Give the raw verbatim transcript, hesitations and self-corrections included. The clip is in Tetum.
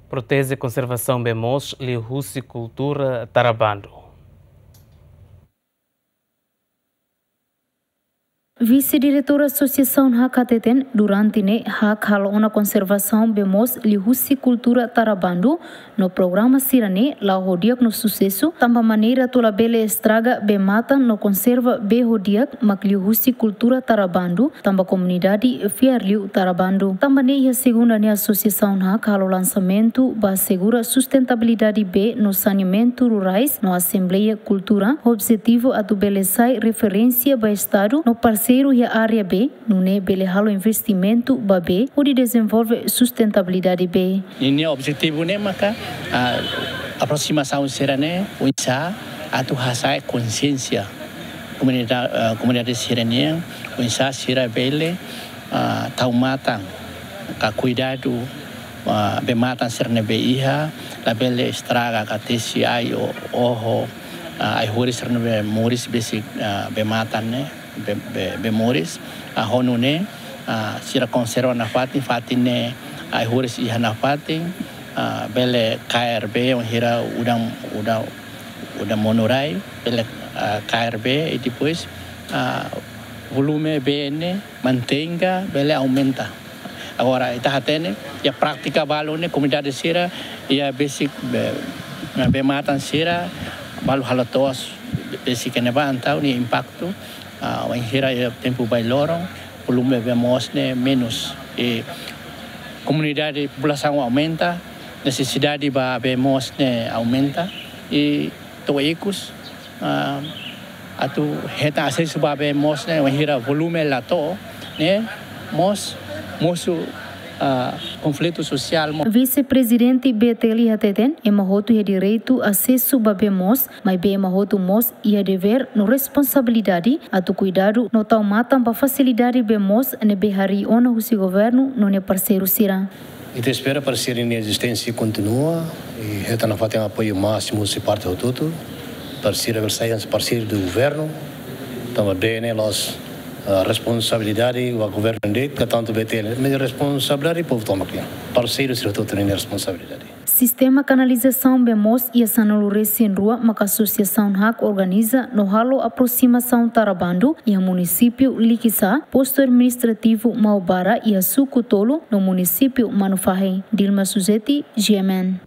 Proteje konservasaun bee moos liuhusi kultura tara bandu. Vise-Diretór Asosiasaun HAK hateten, durante ne'e HAK halo ona konservasaun bee moos liuhusi kultura tara bandu, no programa sira-ne'e la'o ho di'ak no susesu, tanba maneira atu labele estraga bee-matan no konserva bee ho di'ak mak liuhusi kultura tara bandu, tanba komunidade fiar liu tara bandu. Tanba ne'e iha segunda ne'e Asosiasaun HAK halo lansamentu ba asegura sustentabilidade bee no saneamentu rurais no asembleia kultura, objetivu atu bele sai referénsia ba Estadu no parseiru iha área bee, nune'e bele halo investimentu ba bee hodi dezenvolve sustentabilidade bee. Ninia objetivu ne'e maka, ah, aprosimasaun sira-ne'e oinsá atu hasa'e konsiénsia komunida-, ah, komunidade sira-nian, oinsá sira bele, ah, tau matan ka kuidadu, ah, bee-matan sira ne'ebé iha, labele estraga ka tesi ai o oho, ah, ai-horis sira ne'ebé moris besik, ah, bee-matan ne'e, bee, bee, bee moris, ah, ho nune'e, ah, sira konserva nafatin, fatin ne'e ai-horis iha nafatin, ah, bele kaer bee, wainhira udan, udan, udan monu rai, bele, ah, kaer bee, i depois, ah, volume bee ne'e mantein ka bele aumenta. Agora, ita hatene, iha prátika balu ne'e, komunidade sira, iha besik bee, bee-matan sira, balu halo to'os, besik ne'ebá entaun, nia impaktu, ah, wainhira iha tempu bailoron, volume bee moos ne'e menus. I komunidade, populasaun aumenta, nesesidade ba bee moos ne'e aumenta, i to'o ikus, ah, atu hetan asesu ba bee moos ne'e, wainhira volume la to'o, ne'e mós mosu, ah, konflitu sosiál mo- Vise-Prezidente B T L hateten, ema hotu iha direitu asesu ba bee moos, maibé ema hotu mós iha devér no responsabilidade atu kuidadu no tau matan ba fasilidade bee moos ne'ebé harii ona husi governu no nia parseiru sira. Ita espera para sira-nia ezisténsia kontinua i hetan nafatin apoiu másimu husi parte hotu-hotu, para sira bele sai hanesan parseiru do governu, tanba bee ne'e la'ós, ah, responsabilidade ba governu de'it, ka tantu B T L, mas responsabilidade povu tomak nian. Parseiru sira hotu-hotu ninia responsabilidade. Sistema kanalizasaun bee moos iha sanulu-resin-rua maka Asosiasaun HAK organiza no halo aprosimasaun tara bandu iha munisípiu Likisá, postu administrativu Maubara iha suku tolu no munisípiu Manufahi. Dilma Suzeti, G M N.